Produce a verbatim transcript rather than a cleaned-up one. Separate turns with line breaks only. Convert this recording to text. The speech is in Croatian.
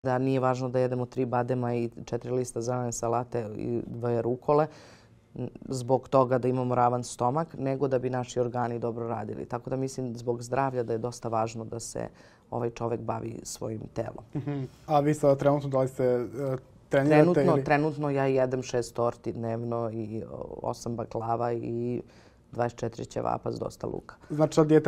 Da nije važno da jedemo tri badema i četiri lista zelene salate i dve rukole zbog toga da imamo ravan stomak, nego da bi naši organi dobro radili. Tako da mislim zbog zdravlja da je dosta važno da se ovaj čovek bavi svojim telom.
Uh-huh. A vi sada trenutno da li se uh, trenirate?
Trenutno,
ili...
trenutno ja jedem šest torti dnevno i osam baklava i dvadeset četiri ćevapa s dosta luka.
Znači, dijeta